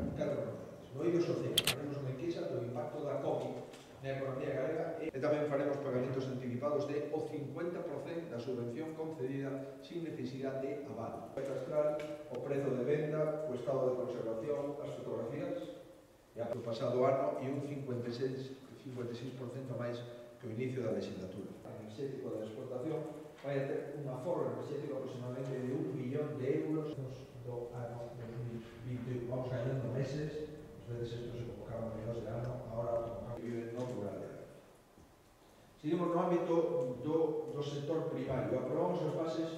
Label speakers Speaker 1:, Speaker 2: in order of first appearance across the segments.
Speaker 1: novidades. No eido social, faremos unha enquisa do impacto da COVID na economía galega e tamén faremos pagamentos anticipados de o 50% da subvención concedida sin necesidade de aval. Catastral, o prezo de venda, o estado de conservación, as fotografías e o pasado ano e un 56% máis que o inicio da legislatura. O enerxético da exportación vai a ter un aforro enerxético aproximadamente de 1 millón de euros do ano 2021. Vamos gañando meses, ás veces isto se convocaba a mediados de ano, agora convocamos que vive no rural. Seguimos no ámbito do sector primario. Aprobamos as bases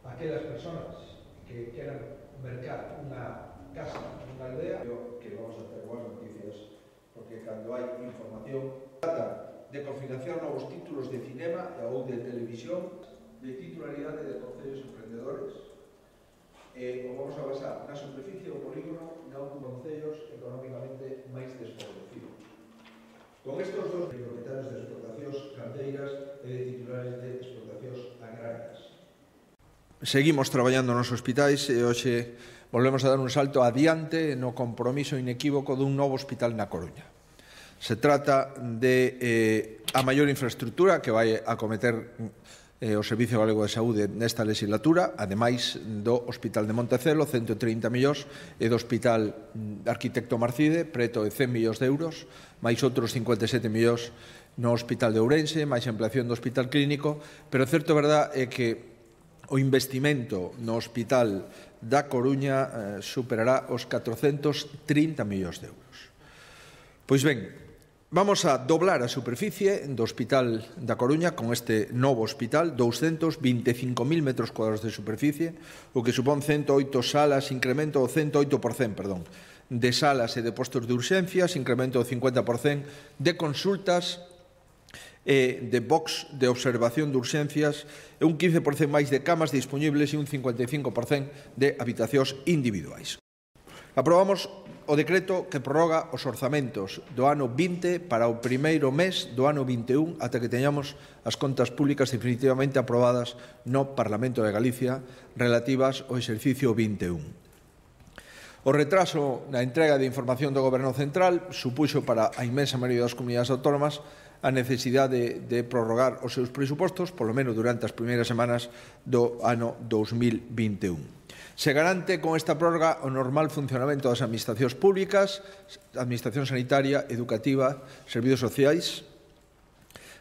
Speaker 1: a aquelas persoas que queran mercar unha casa nunha aldea, que vamos a ter boas noticias, porque cando hai información trata de cofinanciar novos títulos de cinema ou de televisión de titularidade de concellos emprendedores e o vamos a basar na superficie do polígono non concellos económicamente máis desfavorecidos. Con estes dos propietarios de explotacións gandeiras e de titulares de explotacións agrarias. Seguimos traballando nos hospitais e hoxe volvemos a dar un salto adiante no compromiso inequívoco dun novo hospital na Coruña. Se trata de a maior infraestructura que vai acometer o Servicio Galego de Saúde nesta legislatura, ademais do Hospital de Montecelo, 130 millóns, e do Hospital Arquitecto Marcide, preto de 100 millóns de euros, máis outros 57 millóns no Hospital de Ourense, máis ampliación do Hospital Clínico, pero certo verdad é que o investimento no Hospital da Coruña superará os 430 millóns de euros. Pois ben, vamos a doblar a superficie do Hospital da Coruña con este novo hospital, 225.000 metros cuadrados de superficie, o que supón 108 salas, incremento do 108%, de salas e de postos de urxencias, incremento do 50% de consultas e de box de observación de urxencias, e un 15% máis de camas disponibles e un 55% de habitacións individuais. Aprobamos o decreto que prorroga os orzamentos do ano 20 para o primeiro mes do ano 21 ata que teñamos as contas públicas definitivamente aprobadas no Parlamento de Galicia relativas ao exercicio 21. O retraso na entrega de información do Goberno Central supuxo para a inmensa maioría das comunidades autónomas a necesidade de prorrogar os seus presupostos, polo menos durante as primeiras semanas do ano 2021. Se garante con esta prórroga o normal funcionamento das administracións públicas, administración sanitaria, educativa, servizos sociais.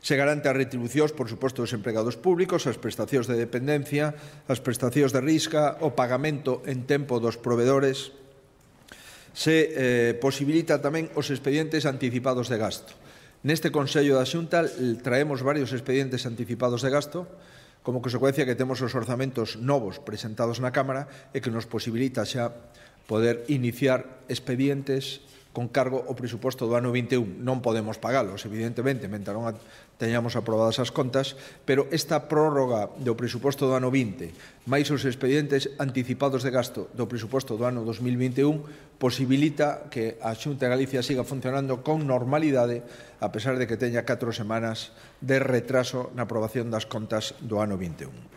Speaker 1: Se garante as retribucións, por suposto, dos empregados públicos, as prestacións de dependencia, as prestacións de risca, o pagamento en tempo dos provedores. Se posibilita tamén os expedientes anticipados de gasto. Neste Consello da Xunta traemos varios expedientes anticipados de gasto, como consecuencia que temos os orzamentos novos presentados na Cámara e que nos posibilita xa poder iniciar expedientes con cargo ao presuposto do ano 21. Non podemos pagalos, evidentemente, mentre non teñamos aprobadas as contas, pero esta prórroga do presuposto do ano 20 máis os expedientes anticipados de gasto do presuposto do ano 2021 posibilita que a Xunta de Galicia siga funcionando con normalidade a pesar de que teña 4 semanas de retraso na aprobación das contas do ano 21.